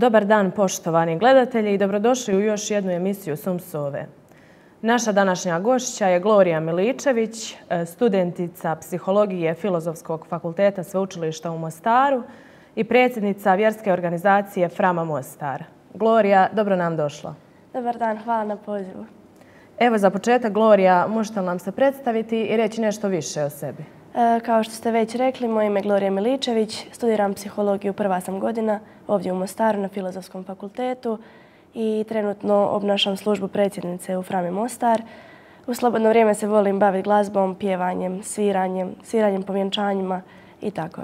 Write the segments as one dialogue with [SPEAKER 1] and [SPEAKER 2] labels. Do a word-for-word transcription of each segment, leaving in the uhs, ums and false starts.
[SPEAKER 1] Dobar dan, poštovani gledatelji, i dobrodošli u još jednu emisiju Sum Sove. Naša današnja gošća je Glorija Miličević, studentica psihologije Filozofskog fakulteta Sveučilišta u Mostaru i predsjednica vjerske organizacije Frama Mostar. Glorija, dobro nam došla.
[SPEAKER 2] Dobar dan, hvala na pozivu.
[SPEAKER 1] Evo za početak, Glorija, možete li nam se predstaviti i reći nešto više o sebi?
[SPEAKER 2] E, kao što ste već rekli, moje ime je Glorija Miličević, studiram psihologiju prva sam godina ovdje u Mostaru na Filozofskom fakultetu i trenutno obnašam službu predsjednice u Frami Mostar. U slobodno vrijeme se volim baviti glazbom, pjevanjem, sviranjem, sviranjem po vjenčanjima i tako.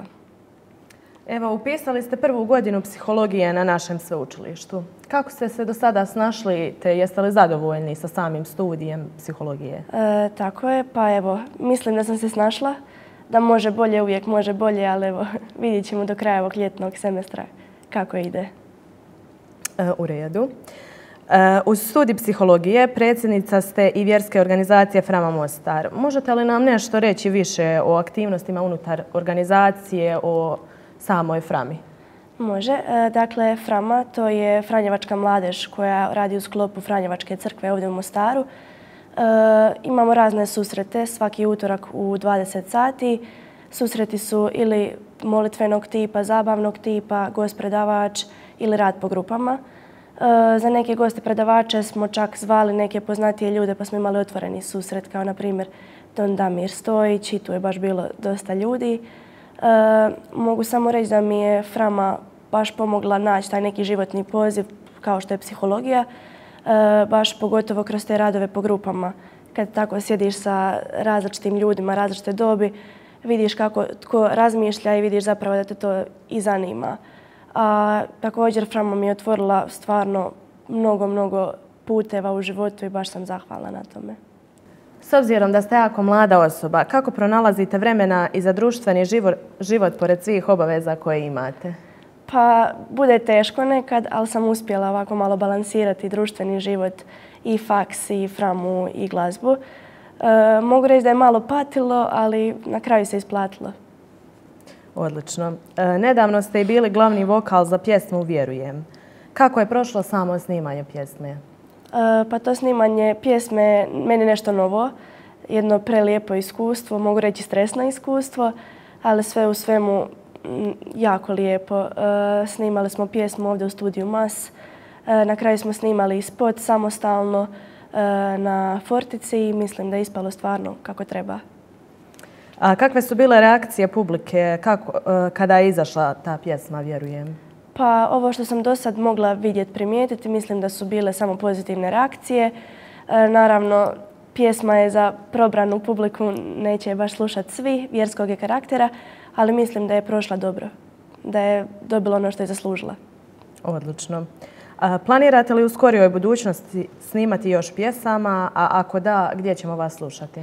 [SPEAKER 1] Evo, upisali ste prvu godinu psihologije na našem sveučilištu. Kako ste se do sada snašli, te jeste li zadovoljni sa samim studijem psihologije?
[SPEAKER 2] E, tako je, pa evo, mislim da sam se snašla, da može bolje, uvijek može bolje, ali evo, vidjet ćemo do kraja ovog ljetnog semestra kako ide.
[SPEAKER 1] E, u redu. E, uz studij psihologije predsjednica ste i vjerske organizacije Frama Mostar. Možete li nam nešto reći više o aktivnostima unutar organizacije, o samoj Frami?
[SPEAKER 2] Može. Dakle, Frama to je Franjevačka mladež koja radi u sklopu Franjevačke crkve ovdje u Mostaru. E, imamo razne susrete svaki utorak u dvadeset sati. Susreti su ili molitvenog tipa, zabavnog tipa, gost predavač ili rad po grupama. E, za neke goste predavače smo čak zvali neke poznatije ljude pa smo imali otvoreni susret kao na primjer Don Damir Stojić i tu je baš bilo dosta ljudi. E, mogu samo reći da mi je Frama baš pomogla naći taj neki životni poziv kao što je psihologija, e, baš pogotovo kroz te radove po grupama. Kad tako sjediš sa različitim ljudima, različite dobi, vidiš kako tko razmišlja i vidiš zapravo da te to i zanima. A također Frama mi je otvorila stvarno mnogo, mnogo puteva u životu i baš sam zahvalna na tome.
[SPEAKER 1] S obzirom da ste jako mlada osoba, kako pronalazite vremena i za društveni život, život pored svih obaveza koje imate?
[SPEAKER 2] Pa, bude teško nekad, ali sam uspjela ovako malo balansirati društveni život i faks, i Framu, i glazbu. E, mogu reći da je malo patilo, ali na kraju se isplatilo.
[SPEAKER 1] Odlično. E, nedavno ste i bili glavni vokal za pjesmu Vjerujem. Kako je prošlo samo snimanje pjesme?
[SPEAKER 2] E, pa to snimanje pjesme meni nešto novo, jedno prelijepo iskustvo, mogu reći stresno iskustvo, ali sve u svemu jako lijepo. E, snimali smo pjesmu ovdje u studiju Mas. E, na kraju smo snimali spot samostalno e, na Fortici i mislim da je ispalo stvarno kako treba.
[SPEAKER 1] A kakve su bile reakcije publike kako, e, kada je izašla ta pjesma Vjerujem?
[SPEAKER 2] Pa ovo što sam do sad mogla vidjeti, primijetiti, mislim da su bile samo pozitivne reakcije. E, naravno, pjesma je za probranu publiku, neće je baš slušati svi, vjerskog je karaktera, ali mislim da je prošla dobro, da je dobila ono što je zaslužila.
[SPEAKER 1] Odlično. A planirate li u skorijoj budućnosti snimati još pjesama, a ako da, gdje ćemo vas slušati?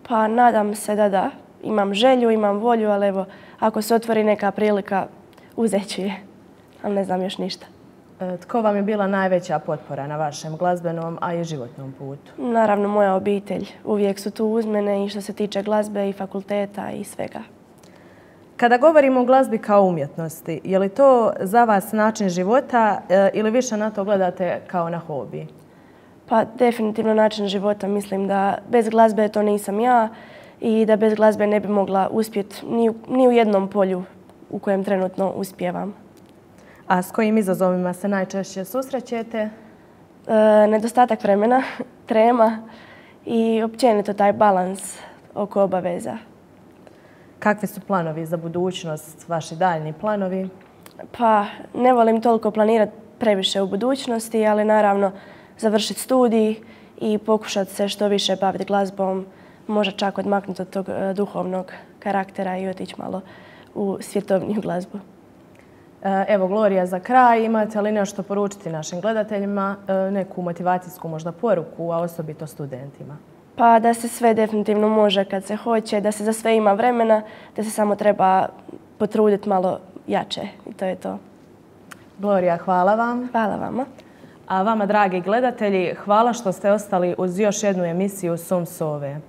[SPEAKER 2] Pa nadam se da da. Imam želju, imam volju, ali evo, ako se otvori neka prilika, uzet ću je. Ali ne znam još ništa.
[SPEAKER 1] E, tko vam je bila najveća potpora na vašem glazbenom, a i životnom putu?
[SPEAKER 2] Naravno, moja obitelj. Uvijek su tu uz mene i što se tiče glazbe i fakulteta i svega.
[SPEAKER 1] Kada govorimo o glazbi kao umjetnosti, je li to za vas način života e, ili više na to gledate kao na hobi?
[SPEAKER 2] Pa definitivno način života. Mislim da bez glazbe to nisam ja i da bez glazbe ne bi mogla uspjeti ni, ni u jednom polju u kojem trenutno uspijevam.
[SPEAKER 1] A s kojim izazovima se najčešće susrećete?
[SPEAKER 2] E, nedostatak vremena, trema i općenito taj balans oko obaveza.
[SPEAKER 1] Kakvi su planovi za budućnost, vaši daljni planovi?
[SPEAKER 2] Pa ne volim toliko planirati previše u budućnosti, ali naravno završiti studij i pokušati se što više baviti glazbom, možda čak odmaknuti od tog duhovnog karaktera i otići malo u svjetovniju glazbu.
[SPEAKER 1] Evo, Glorija, za kraj, imate li nešto poručiti našim gledateljima, neku motivacijsku možda poruku, a osobito studentima?
[SPEAKER 2] Pa da se sve definitivno može kad se hoće, da se za sve ima vremena, da se samo treba potruditi malo jače i to je to.
[SPEAKER 1] Glorija, hvala vam.
[SPEAKER 2] Hvala vama.
[SPEAKER 1] A vama, dragi gledatelji, hvala što ste ostali uz još jednu emisiju Sum Sove.